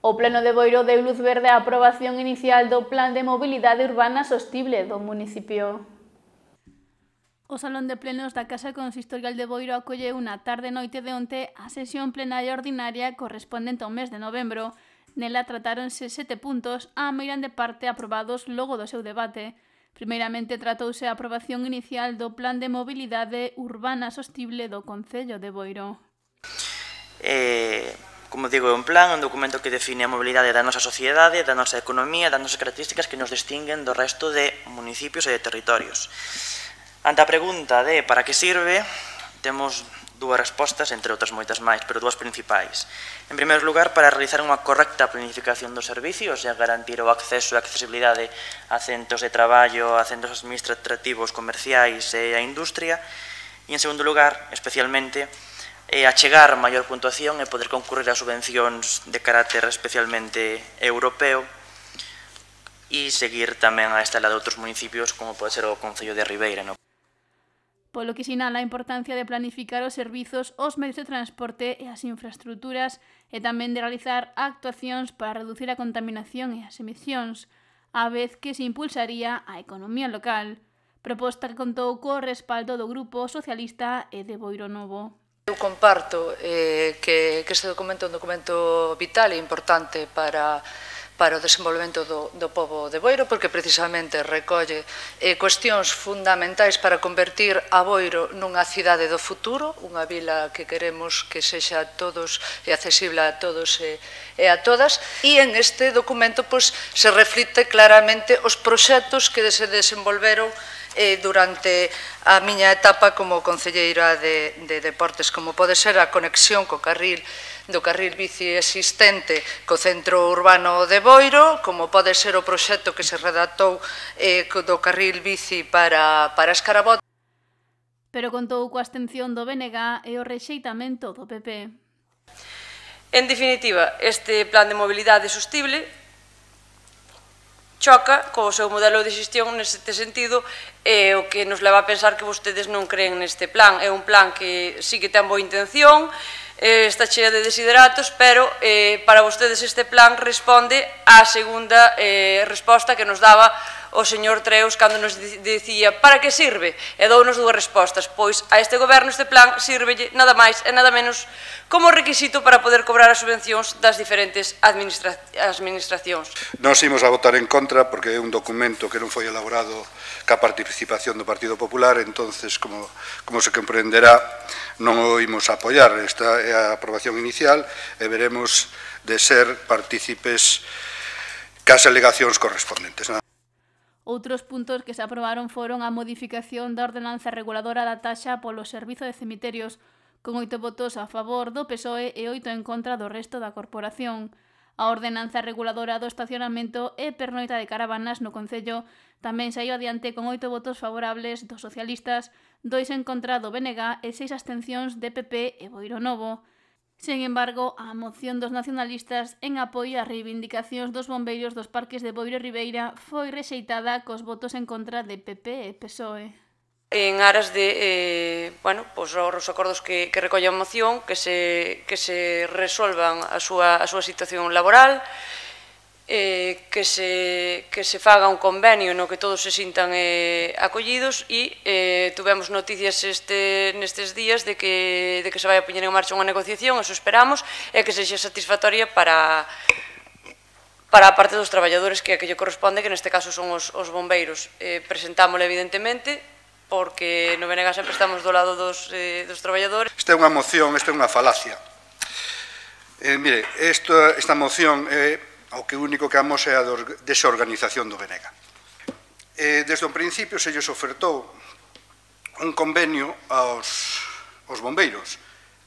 O Pleno de Boiro deu luz verde á aprobación inicial do Plan de Mobilidade Urbana Sostible do municipio. O Salón de Plenos da Casa Consistorial de Boiro acolleu na tarde-noite de onte a sesión plenaria ordinaria correspondente ao mes de novembro. Nela tratáronse 7 puntos, a meirande parte aprobados logo do seu debate. Primeiramente tratouse a aprobación inicial do Plan de Mobilidade Urbana Sostible do Concello de Boiro. Como digo, é un plan, un documento que define a mobilidade da nosa sociedade, da nosa economía, das nosas características que nos distinguen do resto de municipios e de territorios. Ante a pregunta de para que sirve, temos dúas respostas, entre outras moitas máis, pero dúas principais. En primeiro lugar, para realizar unha correcta planificación dos servicios e a garantir o acceso e a accesibilidade a centros de traballo, a centros administrativos, comerciais e a industria. E, en segundo lugar, especialmente, achegar maior puntuación e poder concurrir a subvencións de carácter especialmente europeo e seguir tamén a estela de outros municipios como pode ser o Concello de Ribeira. Polo que sinala a importancia de planificar os servizos, os medios de transporte e as infraestruturas e tamén de realizar actuacións para reducir a contaminación e as emisións, á vez que se impulsaría a economía local, proposta que contou co respaldo do Grupo Socialista e de Boiro Novo. Eu comparto que este documento é un documento vital e importante para o desenvolvemento do pobo de Boiro, porque precisamente recolle cuestións fundamentais para convertir a Boiro nunha cidade do futuro, unha vila que queremos que sexa a todos e accesible a todos e a todas, e en este documento se reflicte claramente os proxectos que se desenvolveron durante a miña etapa como concelleira de deportes, como pode ser a conexión do carril bici existente co centro urbano de Boiro, como pode ser o proxecto que se redactou do carril bici para Escarabot. Pero contou coa abstención do BNG e o rexeitamento do PP. En definitiva, este plan de mobilidade sostible choca co seu modelo de xestión neste sentido e o que nos leva a pensar que vostedes non creen neste plan. É un plan que sí que ten boa intención, está chea de desideratos, pero para vostedes este plan responde á segunda resposta que nos daba o señor Treus cando nos dicía para que sirve, e dounos dúas respostas. Pois a este goberno este plan sírvelle nada máis e nada menos como requisito para poder cobrar as subvencións das diferentes administracións. Nós imos a votar en contra porque é un documento que non foi elaborado ca participación do Partido Popular, entonces, como se comprenderá, non o imos a apoiar. Esta é a aprobación inicial e veremos de ser partícipes cas alegacións correspondentes. Outros puntos que se aprobaron foron a modificación da ordenanza reguladora da taxa polo servizo de cemiterios, con 8 votos a favor do PSOE e 8 en contra do resto da corporación. A ordenanza reguladora do estacionamento e pernoita de caravanas no Concello tamén saiu adiante con 8 votos favorables dos socialistas, 2 en contra do BNG e 6 abstencións de PP e Boiro Novo. Sen embargo, a moción dos nacionalistas en apoio ás reivindicacións dos bombeiros dos parques de Boiro e Ribeira foi rexeitada cos votos en contra de PP e PSOE. En aras de os acordos que recolle a moción, que se resolvan a súa situación laboral, que se faga un convenio no que todos se sintan acollidos e tuvemos noticias nestes días de que se vai a poñer en marcha unha negociación, eso esperamos, e que sexa satisfactoria para a parte dos traballadores que lle corresponde, que neste caso son os bombeiros. Presentámosla evidentemente, porque no BNG sempre estamos do lado dos traballadores. Esta é unha moción, esta é unha falacia. Mire, esta moción o que único que amos é a desorganización do BNG. Desde o principio se lles ofertou un convenio aos bombeiros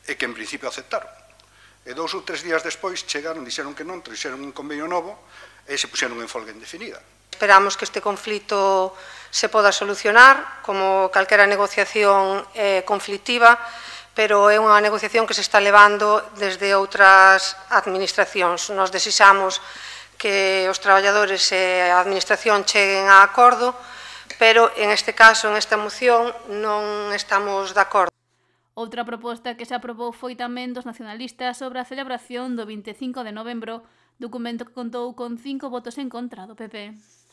e que en principio aceptaron. E 2 ou 3 días despois chegaron, dixeron que non, trouxeron un convenio novo e se puxeron en folga indefinida. Esperamos que este conflito se poda solucionar como calquera negociación conflictiva, pero é unha negociación que se está levando desde outras administracións. Nos desexamos que os traballadores e a administración cheguen a acordo, pero en este caso, en esta moción, non estamos de acordo. Outra proposta que se aprobou foi tamén dos nacionalistas sobre a celebración do 25 de novembro documento que contou con 5 votos en contra do PP.